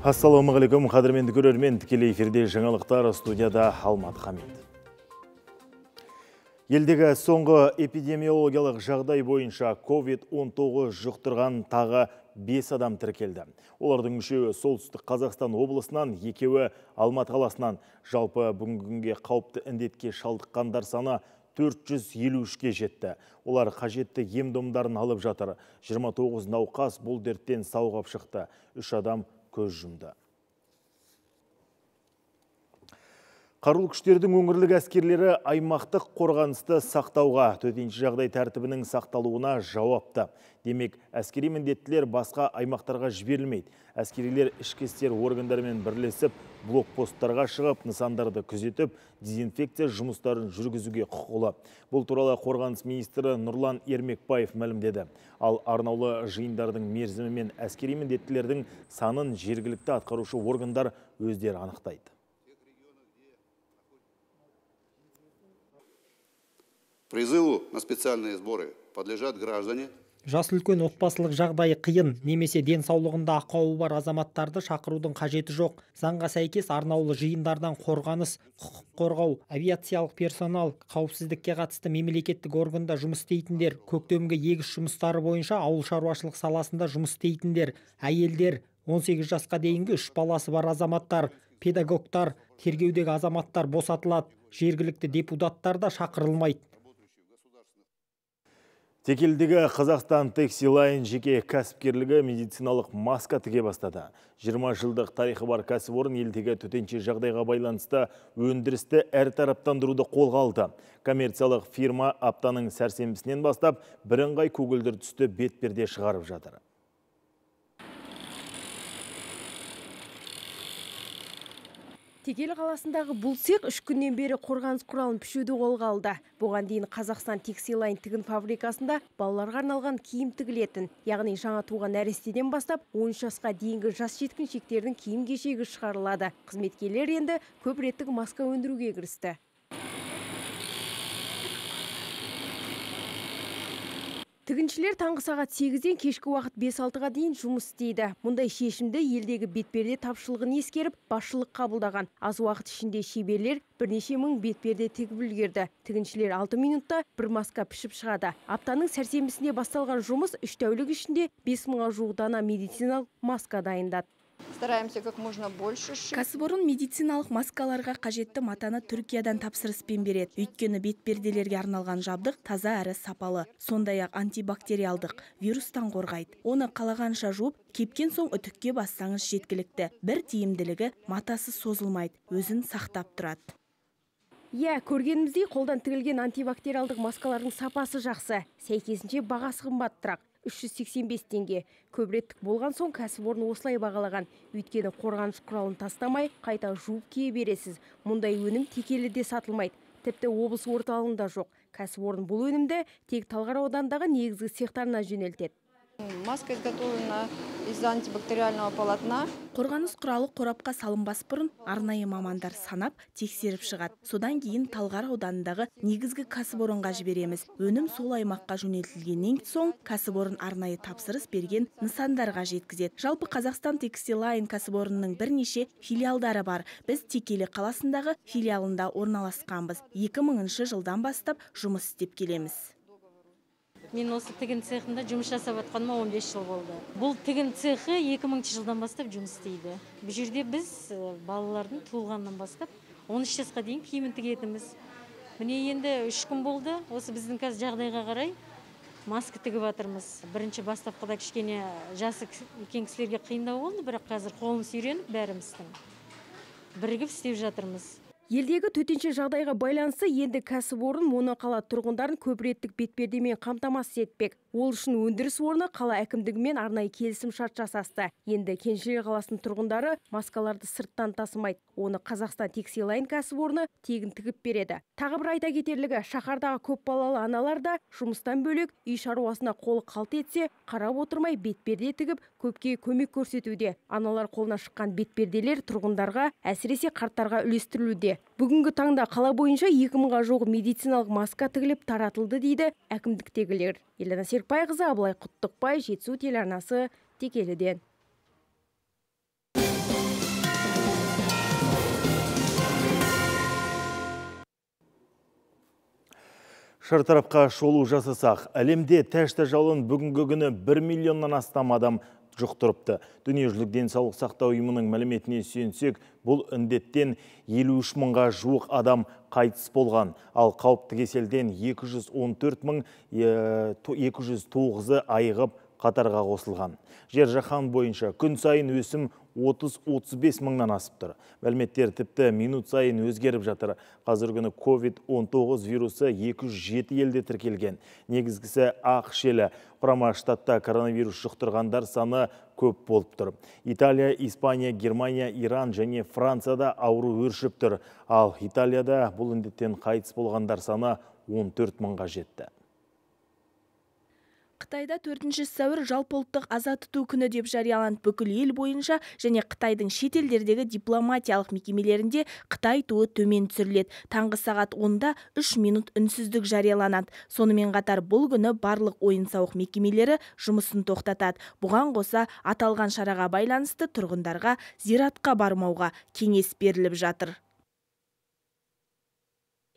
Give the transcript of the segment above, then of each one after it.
Ассалаумағалейкум, қадірменді көрермен, тікелей эфирде жаңалықтар, студияда Алмат Хамид. Елдегі соңғы эпидемиологиялық жағдай бойынша COVID-19 жұқтырған тағы 5 адам тіркелді. Олардың үшеуі солтүстік Қазақстан облысынан, екеуі Алматы қаласынан. Жалпы бүгінгі күнге қауіпті індетке шалдыққандар саны 453-ке жетті. Олар қажетті ем-домдарын алып жатыр. 29 науқас бұл дерттен сауығып шықты. 3 адам көз жұмды. Қарулы күштердің өңірлік әскерлері аймақтық қорғанысты сақтауға, төтенше жағдай тәртібінің сақталуына жауапты. Демек, әскери міндеттілер басқа аймақтарға жіберілмейді. Әскерилер ішкі істер органдарымен бірлесіп, блокпосттарға шығып, нысандарды күзетіп, дезинфекция жұмыстарын жүргізуге құқылы. Бұл туралы қорғаныс министрі Нұрлан Ермекбаев мәлімдеді. Ал арнаулы жиындардың мерзімі мен әскери міндеттілердің санын жергілікті атқарушы органдар өздері анықтайды. Призыву на специальные сборы подлежат граждане. Жас үлкен отбасылық жағдайы қиын, немесе денсаулығында ақауы бар азаматтарды шақырудың қажеті жоқ. Заңға сәйкес арнаулы жиындардан қорғаныс, құқық қорғау, авиациялық персонал, қауіпсіздікке қатысты мемлекеттік органда жұмыс істейтіндер, көктемгі егіс жұмыстары бойынша ауыл шаруашылық саласында жұмыс істейтіндер, әйелдер, 18 жасқа дейінгі 3 баласы бар азаматтар, педагогтар, тергеудегі азаматтар босатылады. Жергілікті депутаттар да шақырылмайды. Текелдегі Қазақстан Тексилайн жеке кәсіпкерлігі медициналық маска тіге бастады. 20 жылдық тарихы бар кәсіпорын елдегі төтенше жағдайға байланысты өндірісті әртараптандыруды қолға алды. Коммерциялық фирма аптаның сәрсенбісінен бастап бірыңғай көгілдір түсті бетперде шығарып жатыр. Текелі қаласындағы бұл цех 3 күннен бері қорғаныс құралын пішуді қолға алды. Бұған дейін Қазақстан Тексилайн тігін фабрикасында балаларға арналған киім тігілетін, яғни жаңа туған нәрестеден бастап 13 жасқа дейінгі жас жеткіншектердің киім кешегі шығарылады. Қызметкерлер енді көп реттік маска өндіруге кірісті. Тігіншілер таңғы сағат 8-ден кешкі уақыт 5-6-ға дейін жұмыс істейді. Мұндай шешімді елдегі бетперде тапшылығын ескеріп, басшылық қабылдаған. Аз уақыт ішінде шеберлер бірнеше мың бетперде тігіп үлгерді. Тігіншілер 6 минутта бір маска пішіп шығады. Аптаның сәрсенбісінде басталған жұмыс 3 тәулік ішінде 5000-ға жуық дана медициналық маска дайындады. Стараемся как можно больше. Кәсіпорын медициналық маскаларға қажетті матаны Түркиядан тапсырыспен береді. Өйткені бетперделерге арналған жабдық таза әрі сапалы. Сондай-ақ антибактериалдық, вирустан қорғайды. Оны қалағанша жуып, кепкен соң үтікке бассаңыз жеткілікті. Бір тиімділігі матасы созылмайды, өзін сақтап тұрады. Көргеніміздей қолдан тігілген антибактериалдық маскалардың сапасы жақсы. Сәйкесінше бағасы қымбаттырақ. 385 теңге. Көбіреттік болған соң кәсіпорын осылай бағалаған. Өйткені қорғаныс құралын тастамай, қайта жуып кие бересіз. Мұндай өнім Текеліде сатылмайды. Тіпті облыс орталығында жоқ. Кәсіпорын бұл өнімді тек Талғар ауданындағы негізгі цехтарына жөнелтеді. Маска изготовлена из антибактериального полотна. Қорғаныс құралы қорапқа салынбас бұрын арнайы мамандар санап, тексеріп шығады. Содан кейін Талғар ауданындағы негізгі кәсіпорынға жібереміз. Өнім сол аймаққа жөнелтілгеннен соң кәсіпорын арнайы тапсырыс берген нысандарға жеткізеді. Жалпы Қазақстан Тексилайн кәсіпорынның бірнеше филиалдары бар. Біз Текелі қаласындағы филиалында орналасқанбыз. 2000 жылдан бастап жұмыс істеп келеміз. Мен осы тігін цехында жұмыс жасап атқаныма 15 жыл болды. Бұл тігін цехы 2000 жылдан бастап жұмыс істейді. Бұл жерде біз балалардың туылғаннан бастап 13 жасқа дейін киімін тігетіміз. Міне енді 3 күн болды. Осы біздің қазір жағдайға қарай маска тігіп жатырмыз. Бірінші бастапқыда кішкене жасы үлкен кісілерге қиындау болды, бірақ қазір қолымыз үйреніп бәріміздің бірігіп істеп жатырмыз. Елдегі төтенше жағдайға байланысты енді кәсіпорын моноқала тұрғындарын көпреттік бетпердемен қамтамасыз етпек. Ол үшін өндіріс орны қала әкімдігімен арнайы келісім шарт жасасты. Енді Кеншілер қаласының тұрғындары маскаларды сырттан тасымайды. Оны Қазақстан Тексилайн кәсіпорны тегін тігіп береді. Тағы бір айта кетерлігі, шаһардағы көп балалы аналар да жұмыстан бөлек үй шаруасына қолы қалт етсе, қарап отырмай бетперде тігіп, көпке көмек көрсетуде. Аналар қолына шыққан бетперделер тұрғындарға, әсіресе қарттарға үлестірілуде. Бүгінгі таңда қала бойынша 2000-ға жуық медициналық маска тігіліп таратылды дейді әкімдіктегілер. Елена Серікбайқызы, Абылай Құттықбай, Жетісу телеарнасы, Текеліден. Шартарапқа шолу жасасақ, әлемде тәшті жалын бүгінгі күні 1 миллионнан астам адам жұқтырыпты. Дүниежүзілік денсаулық сақтау ұйымының мәліметіне сүйенсек, бұл індеттен 53 мыңға жуық адам қайтыс болған, ал қауіпті кеселден 209 айығып қатарға қосылған. Жер жаһан бойынша күн сайын өсім 30-35 мыңнан асып тұр. Мәліметтер тіпті минут сайын өзгеріп жатыр. Қазір күні COVID-19 вирусы 207 елде тіркелген. Негізгісі ақш елі. Құрама штатта коронавирус жұқтырғандар саны көп болып тұр. Италия, Испания, Германия, Иран және Францияда ауру өршіп тұр. Ал Италияда бұл індеттен қайтыс болғандар саны 14 мыңға жетті. Қытайда 4 сәуір жалпы ұлттық аза тұту күні деп жарияланды. Бүкіл ел бойынша және Қытайдың шетелдердегі дипломатиялық мекемелерінде Қытай туы төмен түсіріледі. Таңғы сағат 10-да 3 минут үнсіздік жарияланады. Сонымен қатар бұл күні барлық ойын-сауық мекемелері жұмысын тоқтатады. Бұған қоса аталған шараға байланысты тұрғындарға зиратқа бармауға кеңес беріліп жатыр.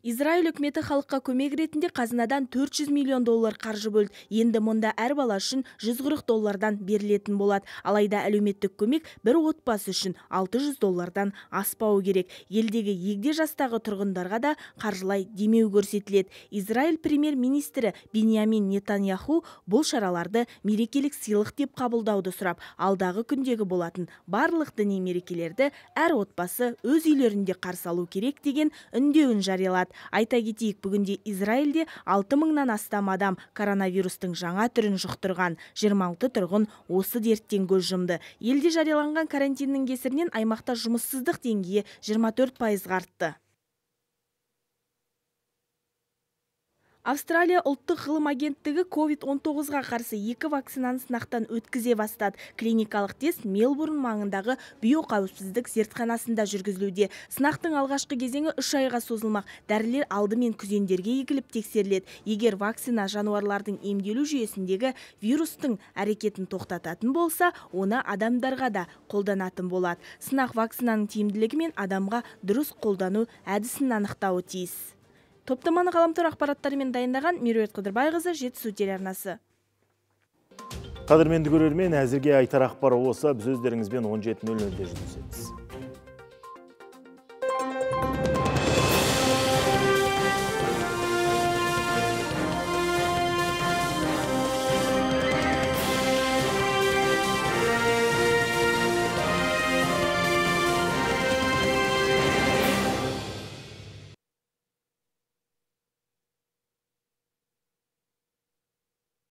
Израиль үкіметі халыққа көмек ретінде қазынадан $400 миллион қаржы бөлді. Енді мұнда әр бала үшін $140 берілетін болады. Алайда әлеуметтік көмек бір отбасы үшін $600 аспауы керек. Елдегі егде жастағы тұрғындарға да қаржылай демеу көрсетіледі. Израиль премьер-министрі Биньямин Нетаньяху бұл шараларды мерекелік сыйлық деп қабылдауды сұрап, алдағы күндегі болатын барлық діни мерекелерді әр отбасы өз үйлерінде қарсы алу керек деген үндеуін жариялады. Айта кетейік, бүгінде Израильде 6 мыңнан астам адам коронавирустың жаңа түрін жұқтырған. 26 тұрғын осы дерттен көз жұмды. Елде жарияланған карантиннің кесірінен аймақта жұмыссыздық деңгейі 24% артты. Австралия ұлттық ғылым агенттігі COVID-19-ға қарсы 2 вакцинаны сынақтан өткізе бастады. Клиникалық тест Мелбурн маңындағы биоқауіпсіздік зертханасында жүргізілуде. Сынақтың алғашқы кезеңі 3 айға созылмақ. Дәрілер алдымен күзендерге егіліп тексеріледі. Егер вакцина жануарлардың емделу жүйесіндегі вирустың әрекетін тоқтататын болса, оны адамдарға да қолданатын болады. Сынақ вакцинаның тиімділігі мен адамға дұрыс қолдану әдісін анықтауы тиіс. Топтаманы ғаламтор ақпараттарымен дайындаған Меруерт Қыдырбайқызы, Жетісу телеарнасы. Қадірменді көрермен, әзірге айтар ақпар осы. Біз өздеріңізбен 17:00-де жүздесеміз.